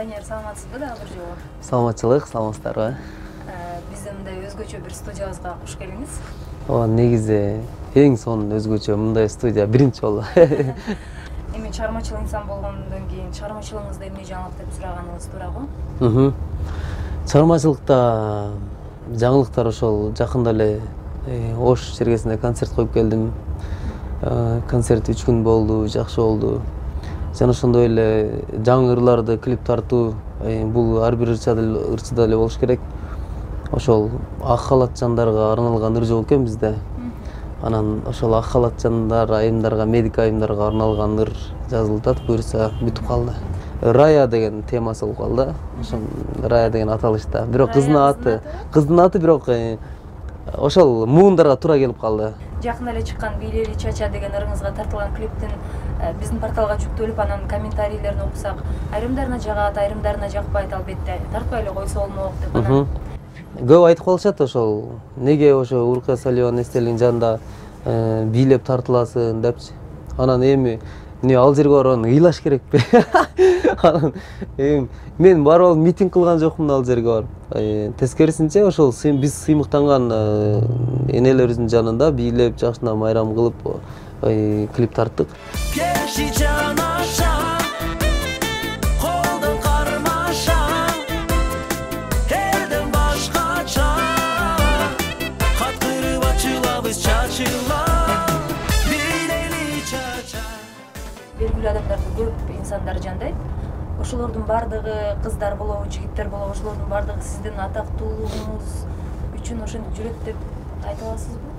Данияр, саламатсызбы дагы бир жолу? Саламатчылык, саламатсыздарбы? Биздин мындай өзгөчө бир студиябызга куш келиңиз. Негизи эң сонун өзгөчө мындай студия биринчи болду. Эми чыгармачыл инсан болгондон кийин чыгармачылыгыңызда эмне жаңылык деп сураганыңыз туурабы? Чыгармачылыкта жаңылыктар ошол жакында эле Ош чергесинде концерт коюп келдим. Концерт 3 күн болду, жакшы болду. Жана ошондой эле жаңы ырларды клип тартуу, бул ар бир ырчыда эле болуш керек. Ошол ак халатчандарга арналган ыр жок экен бизде. Анан ошол ак халатчандар айымдарга, медик айымдарга арналган ыр жазылып атат, буюрса бүтүп калды. Рая деген темасы болуп калды. Ошол Рая деген аталышта. Бирок кыздын аты бирок ошол муундарга туура келип калды. Жакында эле чыккан Бийлели Чача деген ырыңызга тартылган клиптин биздин порталга жүктөлүп, анан комментарийлерин окусак, айрымдарына жагат, айрымдарына жакпайт, албетте тартпай эле койсо болмок деп анан көп айтып калышат ошол. Неге ошо Уркая Салиеванын эстелигинин жанында бийлеп тартыласың депчи. Анан эми ал жерге барып ыйлаш керекпи? Анан мен барып алып митинг кылган жокмун ал жерге барып. Тескерисинче ошол биз сыймыктанган энелерибиздин жанында бийлеп жакшына майрам кылып клип тарттык. Белгилүү адамдарды көп инсандар жандайт. Ошолордун бардыгы кыздар болобу, жигиттер болобу, ошолордун бардыгы сиздин атактуулугуңуз үчүн ошентип жүрөт деп айта аласызбы?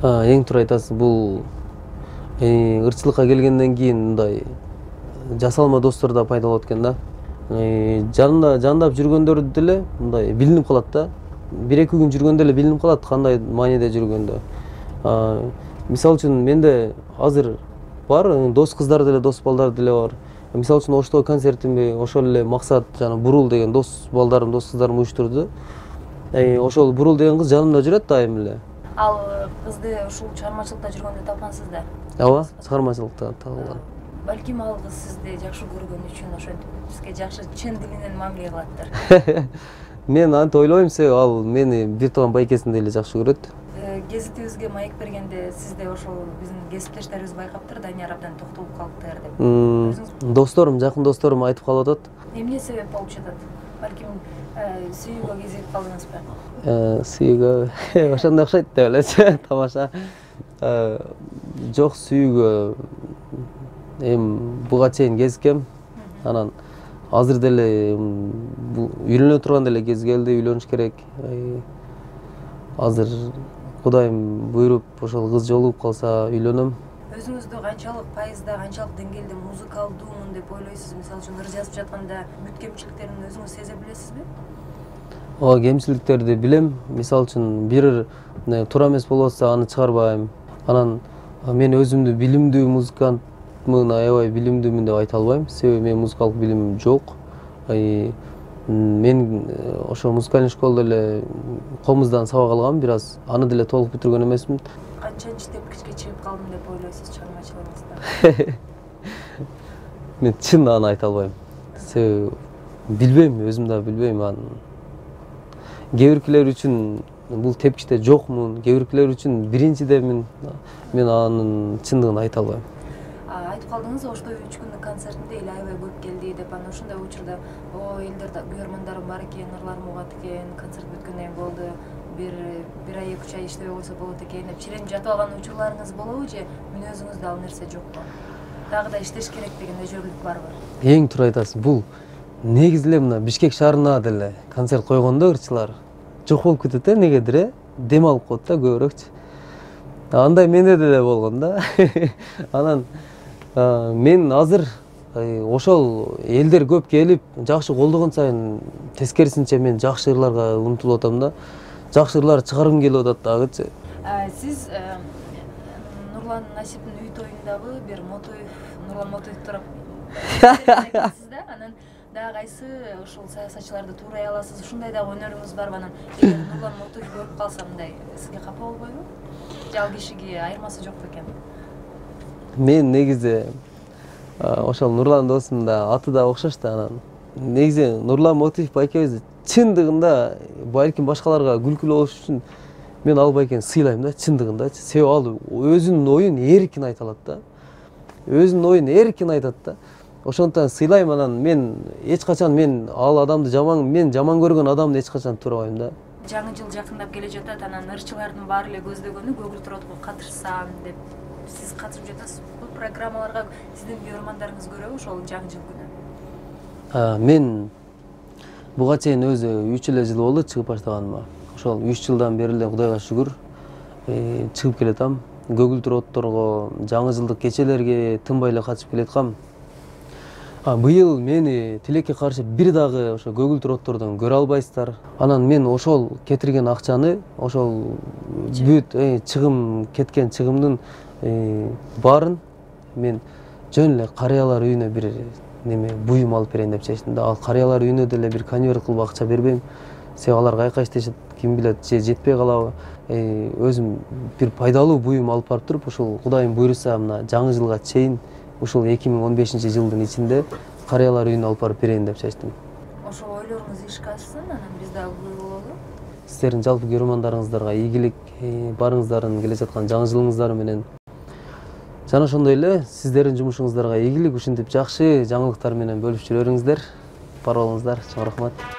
Эң туура айтасыз. Бул ырчылыкка келгенден кийин мындай жасалма достор да пайда болот экен да. Жанында жандап жүргөндөрдү деле мындай билинип калат да. 1-2 күн жүргөндө эле билинип калат кандай мааниде жүргөндө. Мисалы үчүн менде азыр бар, дос кыздар деле, дос балдар деле бар. Мисалы үчүн Оштогу концертимди ошол эле Максат жана Бурул деген дос балдарым, дос кыздарым уюштурду. Ошол Бурул деген кыз жанымда жүрөт дайым эле. Ал кызды ушул чыгармачылыкта жүргөндө тапкансыз да? Ооба, чыгармачылыкта табылган. Балким ал кыз сизди жакшы көргөн үчүн ошентип бизге жакшы чын дилинен мамиле кылаттыр. Мен антип ойлойм, себеби ал мени бир тууган байкесиндей эле жакшы көрөт. Гезитибизге маек бергенде сизде ошол биздин кесиптештерибиз байкаптыр, Данияр абдан токтолуп калыптыр деп. Досторум, жакын досторум айтып калып атат. Эмне себеп болуп жатат? Балким сүйүүгө кезигип калдыңызбы? Сүйүүгө ошондой окшойт деп элечи, тамаша. Жок, сүйүүгө буга чейин кезиккем. Анан азыр деле үйлөнө турган деле кез келди, үйлөнүш керек. Азыр Кудайым буйруп ошол кыз жолугуп калса үйлөнөм. Өзүңүздү канчалык пайызда, канчалык деңгээлде музыкалдуумун деп ойлойсуз? Мисалы үчүн ыр жазып жатканда бүт кемчиликтерин өзүңүз сезе билесизби? Ооба, кемчиликтерди билем. Мисалы үчүн бир туура эмес болуп атса аны чыгарбайм. Анан мен өзүмдү билимдүү музыкантмын, аябай билимдүүмүн деп айта албайм. Себеби менин музыкалык билимим жок. Мен ошо музыкальный школдо эле комуздан сабак алгам, бир аз. Аны деле толук бүтүргөн эмесмин. Канчанчы тепкичке чыгып калдым деп ойлойсуз чыгармачылыгыңызда? Мен чын аны айта албайм. Себеби билбейм, өзүм да билбейм аны. Кээ биркилер үчүн бул тепкичте жокмун, кээ биркилер үчүн биринчидемин. Мен анын чындыгын айта албайм. Айтып калдыңыз, Оштогу 3 күндүк концертинде эле аябай көп келди деп, анан ошондой учурда элдер көрөрмандарым бар экен, ырларым угат экен, концерт бүткөндөн кийин болду, бир ай 2 ай иштебей койсо болот экен деп чиренип жатып алган учурларыңыз болобу же мүнөзүңүздө ал нерсе жокпу? Дагы да иштеш керек деген өжөрлүк барбы? Эң туура айтасыз. Бул негизи эле мына Бишкек шаарына деле концерт койгондо ырчылар жок болуп кетет негедир, дем алып коет да көбүрөөкчү. Андай менде деле болгон да. Анан мен азыр ошол элдер көп келип, жакшы колдогон сайын тескерисинче мен жакшы ырларга умтулуп атам да. Жакшы ырлар чыгаргым келип атат дагычы. Сиз Нурлан Насиптин үй тоюндагы бир Нурлан Мотоев турап айтасыз да, анан дагы кайсы ушул саясатчыларды туурай аласыз, ушундай дагы өнөрүңүз барбы? Анан Нурлан Мотоев көрүп калса мындай сизге капа болбойбу? Же ал кишиге айырмасы жок бекен? Мен негизи ошол Нурлан досум да аты да окшош да, анан негизи Нурлан Мотиев байкебиз чындыгында балким башкаларга күлкүлүү болуш үчүн мен ал байкени сыйлайм да, чындыгындачы. Себеби ал өзүнүн оюн эркин айта алат да. Өзүнүн оюн эркин айтат да. Ошондуктан сыйлайм. Анан мен эч качан ал адамды мен жаман көргөн адамды эч качан турабайм да. Жаңы жыл жакындап келе жатат, анан ырчылардын баары эле көздөгөнү көгүлдөр отко катышсам деп. Сиз катышып жатасыз. Бул программаларга сиздин көрөрмандарыңыз көрөбү ошол жаңы жыл күнү? Мен буга чейин өзү 3 эле жыл болду чыгып баштаганыма. Ошол 3 жылдан бери эле Кудайга шүгүр чыгып келатам. Көгүлдөр отторго, жаңы жылдык кечелерге тынбай эле катышып келаткам. Быйыл мени тилекке каршы бир дагы ошо көгүлдөр оттордон көрө албайсыздар. Анан мен ошол кетирген акчаны, ошол бүт чыгым кеткен чыгымдын баарын мен жөн эле карыялар үйүнө бир буюм алып берейин деп чечтим да. Ал карыялар үйүнө деле бир конверт кылып акча бербейм. Себеби алар кайка иштешет, ким билет, же жетпей калабы. Өзүм бир пайдалуу буюм алып барып туруп, ушул Кудайым буйруса мына жаңы жылга чейин ушул 2015-жылдын ичинде карыялар үйүнө алып барып берейин деп чечтим. Ошол ойлоруңуз ишке ашсын, анан биз дагы күбө бололу. Сиздердин жалпы көрөрмандарыңыздарга ийгилик, барыңыздардын келе жаткан жаңы жылыңыздары менен. Жана ошондой эле сиздердин жумушуңуздарга ийгилик, ушинтип жакшы жаңылыктар менен бөлүшүп жүрө бериңиздер. Бар болуңуздар. Чоң рахмат.